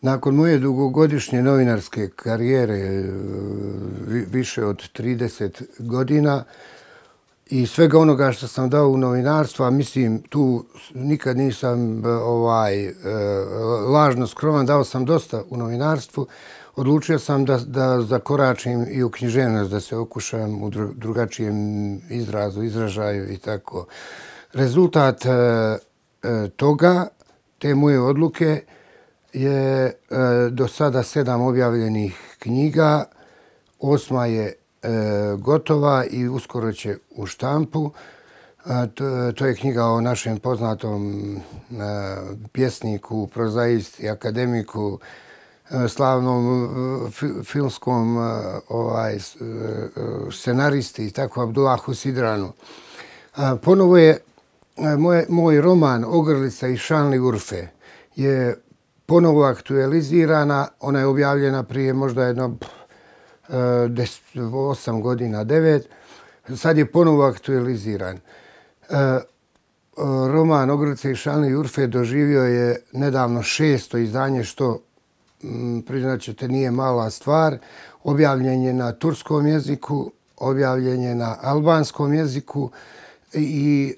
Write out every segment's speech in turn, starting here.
Nakon moje dugogodišnje novinarske karijere, više od 30 godina i svega onoga što sam dao u novinarstvo, a mislim tu nikad nisam lažno skroman, dao sam dosta u novinarstvu, odlučio sam da zakoračim i u književnost, da se okušam u drugačijem izrazu, izražaju i tako. Rezultat toga, te moje odluke, je do sada 7 objavljenih knjiga, 8. je gotova i uskoro će u štampu. To je knjiga o našem poznatom pjesniku, prozaisti, akademiku, slavnom filmskom scenaristi i tako Abdullahu Sidranu. Ponovo je moj roman Ogrlica i Šanli Urfe je ponovo aktualizirana. Ona je objavljena prije možda jedno 8 godina, 9. Sad je ponovo aktualiziran. Roman Ogrlica i Šanli Urfe doživio je nedavno 6. izdanje, što priznaćete nije mala stvar. Objavljen je na turskom jeziku, objavljen je na albanskom jeziku i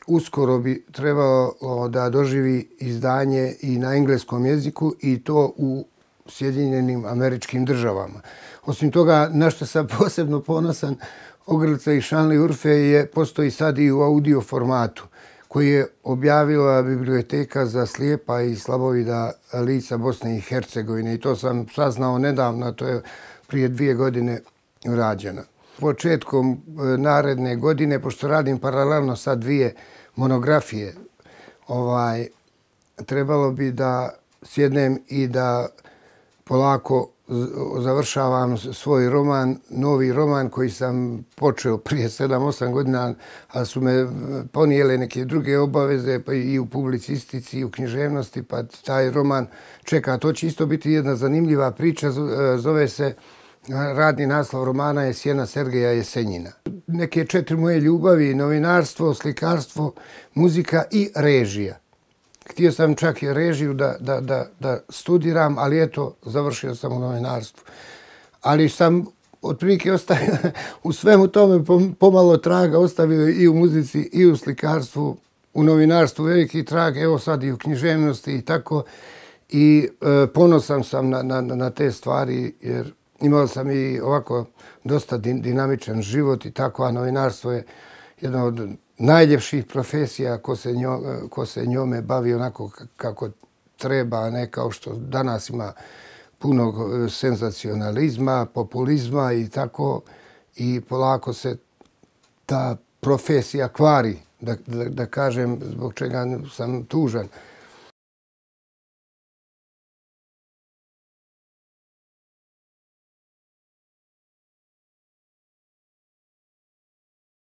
uskoro bi trebalo da doživi izdanje i na engleskom jeziku i to u Sjedinjenim Američkim Državama. Osim toga, na što sam posebno ponosan, Ogrlica i Šanli Urfe postoji sad i u audio formatu koji je objavila Biblioteka za slijepa i slabovida lica Bosne i Hercegovine i to sam saznao nedavno, to je prije 2 godine rađeno. Početkom naredne godine, pošto radim paralelno sa 2 monografije, trebalo bi da sjednem i da polako završavam svoj roman, novi roman koji sam počeo prije 7-8 godina, ali su me ponijele neke druge obaveze pa i u publicistici i u književnosti, pa taj roman čeka. To će isto biti jedna zanimljiva priča, zove se, radni naslov romana je Sjena Sergeja Jesenjina. Neke 4 moje ljubavi: novinarstvo, slikarstvo, muzika i režija. Htio sam čak i režiju da studiram, ali eto, završio sam u novinarstvu. Ali sam otprilike ostavio u svemu tome pomalo traga, ostavio i u muzici i u slikarstvu, u novinarstvu veliki trag, evo sad i u književnosti i tako. I ponosan sam na te stvari jer imao sam i ovako dosta dinamičan život i tako, a novinarstvo je jedna od najljepših profesija ko se njome bavi onako kako treba, a ne kao što danas ima puno senzacionalizma, populizma i tako. I polako se ta profesija kvari, da kažem zbog čega sam tužan.